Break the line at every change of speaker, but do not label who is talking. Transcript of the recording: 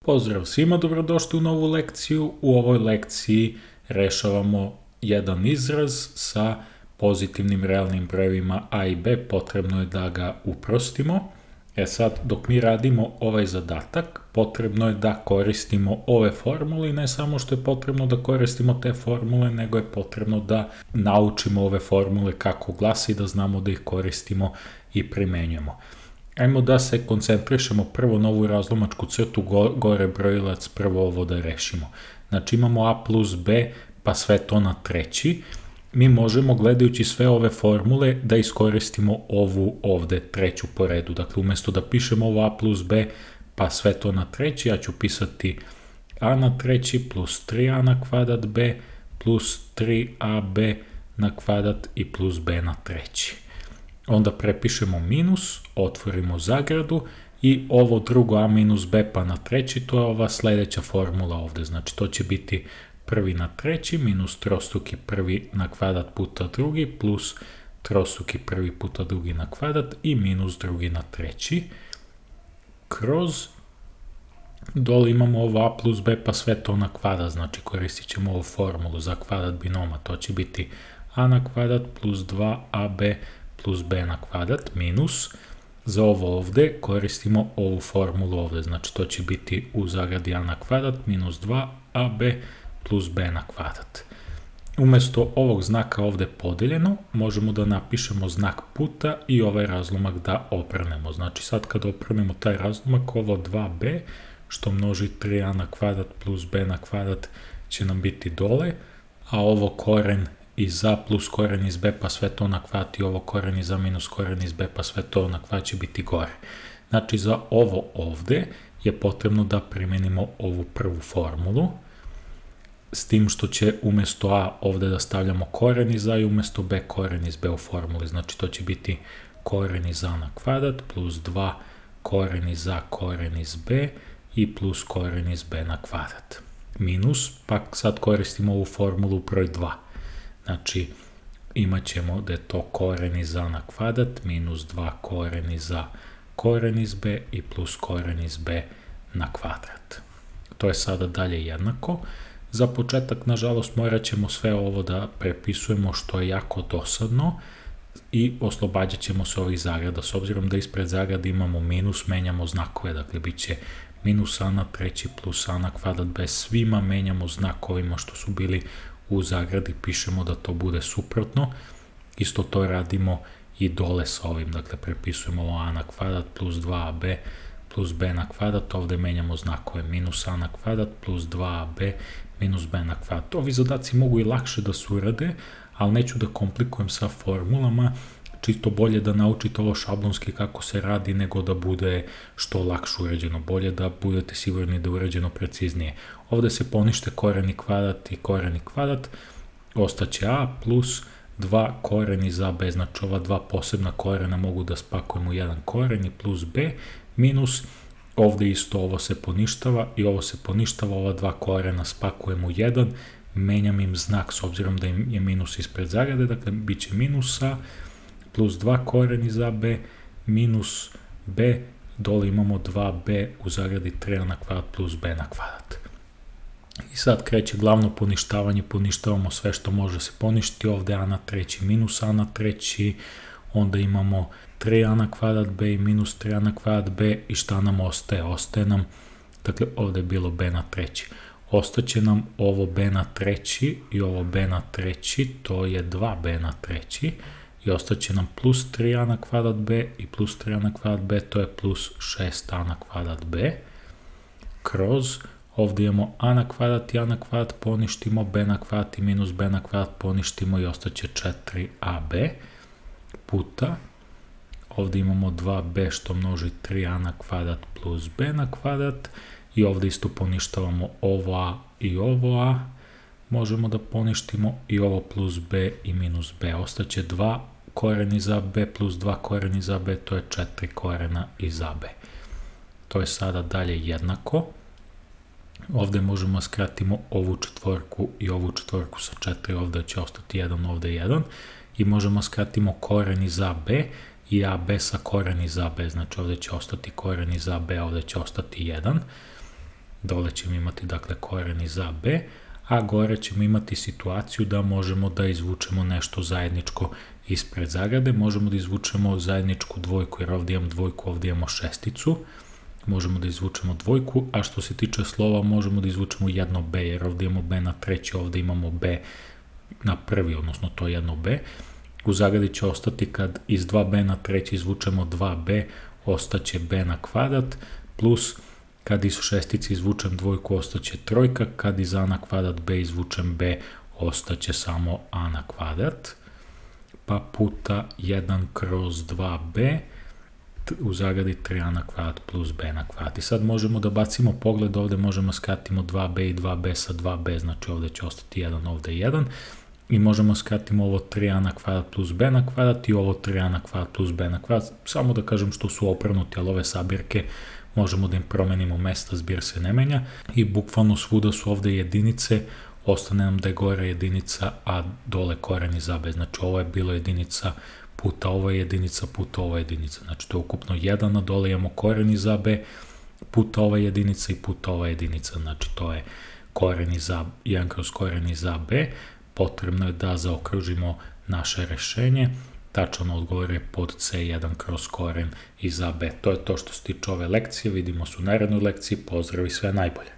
Pozdrav svima, dobrodošli u novu lekciju. U ovoj lekciji rešavamo jedan izraz sa pozitivnim realnim brojevima a i b, potrebno je da ga uprostimo. Sad, dok mi radimo ovaj zadatak, potrebno je da koristimo ove formule i ne samo što je potrebno da koristimo te formule, nego je potrebno da naučimo ove formule kako glasi, da znamo da ih koristimo i primenjujemo. Ajmo da se koncentrišemo prvo na ovu razlomačku crtu, gore brojilac, prvo ovo da rešimo. Znači imamo a plus b, pa sve to na treći. Mi možemo, gledajući sve ove formule, da iskoristimo ovu ovde treću po redu. Dakle, umesto da pišemo ovo a plus b, pa sve to na treći, ja ću pisati a na treći plus 3a na kvadrat b plus 3ab na kvadrat i plus b na treći. Onda prepišemo minus, otvorimo zagradu i ovo drugo a minus b pa na treći, to je ova sledeća formula ovde. Znači to će biti prvi na treći minus trostruki prvi na kvadrat puta drugi plus trostruki prvi puta drugi na kvadrat i minus drugi na treći. Kroz dole imamo ovo a plus b pa sve to na kvadrat, znači koristit ćemo ovu formulu za kvadrat binoma. To će biti a na kvadrat plus 2ab plus b na kvadrat minus, za ovo ovde koristimo ovu formulu ovde, znači to će biti u zagradi a na kvadrat minus 2ab plus b na kvadrat. Umesto ovog znaka ovde podeljeno, možemo da napišemo znak puta i ovaj razlomak da obrnemo. Znači sad kad obrnemo taj razlomak, ovo 2b što množi 3a na kvadrat plus b na kvadrat će nam biti dole, a ovo koren iz a plus koren iz b pa sve to na kvadrat i ovo koren iz a minus koren iz b pa sve to na kvadrat će biti gore. Znači za ovo ovde je potrebno da primenimo ovu prvu formulu, s tim što će umesto a ovde da stavljamo koren iz a i umesto b koren iz b u formuli. Znači to će biti koren iz a na kvadrat plus 2 koren iz a koren iz b i plus koren iz b na kvadrat. Minus, pa sad koristimo ovu formulu broj 2. Znači, imat ćemo da je to koren iz a na kvadrat minus 2 koren iz a koren iz b i plus koren iz b na kvadrat. To je sada dalje jednako. Za početak, nažalost, morat ćemo sve ovo da prepisujemo, što je jako dosadno, i oslobađat ćemo se ovih zagrada. S obzirom da ispred zagrada imamo minus, menjamo znakove, dakle bit će minus a na treći plus a na kvadrat b, svima menjamo znakovima što su bili u zagradi, pišemo da to bude suprotno. Isto to radimo i dole sa ovim, dakle prepisujemo ovo a na kvadrat plus 2ab plus b na kvadrat, ovde menjamo znakove, minus a na kvadrat plus 2ab minus b na kvadrat. Ovi zadaci mogu i lakše da se urade, ali neću da komplikujem sa formulama, čisto bolje da naučite ovo šablonski kako se radi nego da bude što lakše urađeno, bolje da budete sigurni da je urađeno preciznije. Ovde se ponište koren i kvadrat i koren i kvadrat, ostaće a plus 2 koren iz a b, znači ova dva posebna korena mogu da spakujem u jedan koren i plus b minus, ovde isto ovo se poništava i ovo se poništava, ova dva korena spakujem u jedan, menjam im znak s obzirom da im je minus ispred zagrade, dakle bit će minus a plus 2 koren iz a b minus b, dole imamo 2b u zagradi 3a na kvadrat plus b na kvadrat. I sad kreće glavno poništavanje, poništavamo sve što može se poništiti, ovde a na treći minus a na treći, onda imamo 3a na kvadrat b i minus 3a na kvadrat b i šta nam ostaje? Ostaje nam, dakle ovde je bilo b na treći, ostaće nam ovo b na treći i ovo b na treći, to je 2b na treći, i ostaće nam plus 3a na kvadrat b i plus 3a na kvadrat b, to je plus 6a na kvadrat b, kroz ovde imamo a na kvadrat i a na kvadrat poništimo, b na kvadrat i minus b na kvadrat poništimo i ostaće 4ab puta, ovde imamo 2b što množi 3a na kvadrat plus b na kvadrat i ovde isto poništavamo ovo a i ovo a, možemo da poništimo i ovo plus b i minus b, ostaće 2 koren iz a b plus 2 koren iz a b, to je 4 korena iz a b. To je sada dalje jednako. Ovde možemo skratimo ovu četvorku i ovu četvorku sa 4, ovde će ostati 1, ovde 1, i možemo skratimo koren iz a b i ab sa koren iz ab, znači ovde će ostati koren iz ab, ovde će ostati 1. dole ćemo imati dakle koren iz a, b, a gore ćemo imati situaciju da možemo da izvučemo nešto zajedničko ispred zagrade, možemo da izvučemo zajedničku dvojku, jer ovdje imamo dvojku, ovdje imamo šesticu, možemo da izvučemo dvojku, a što se tiče slova možemo da izvučemo jedno b, jer ovdje imamo b na treći, ovdje imamo b na prvi, odnosno to je jedno b. U zagradi će ostati kad iz 2b na treći izvučemo 2b, ostaće b na kvadrat, plus kad iz šestice izvučem dvojku ostaće trojka, kad iz a na kvadrat b izvučem b ostaće samo a na kvadrat, pa puta 1 kroz 2b, u zagradi 3a na kvadrat plus b na kvadrat. I sad možemo da bacimo pogled, ovdje možemo skratimo 2b i 2b sa 2b, znači ovdje će ostati 1, ovdje 1, i možemo skratimo ovo 3a na kvadrat plus b na kvadrat i ovo 3a na kvadrat plus b na kvadrat, samo da kažem što su obrnuti, ali ove sabirke možemo da im promenimo mesta, zbir se ne menja i bukvalno svuda su ovdje jedinice, ostane nam da je gore jedinica, a dole koren iz a, b, znači ovo je bilo jedinica puta ovo je jedinica puta ovo je jedinica, znači to je ukupno 1, a dole imamo koren iz a, b puta ova jedinica i puta ova jedinica, znači to je koren iz a, 1 kroz koren iz a, b. Potrebno je da zaokružimo naše rešenje, tačan odgovor je pod C1 kroz koren iz a, b. To je to što se tiče ove lekcije, vidimo se u narednoj lekciji, pozdrav i sve najbolje.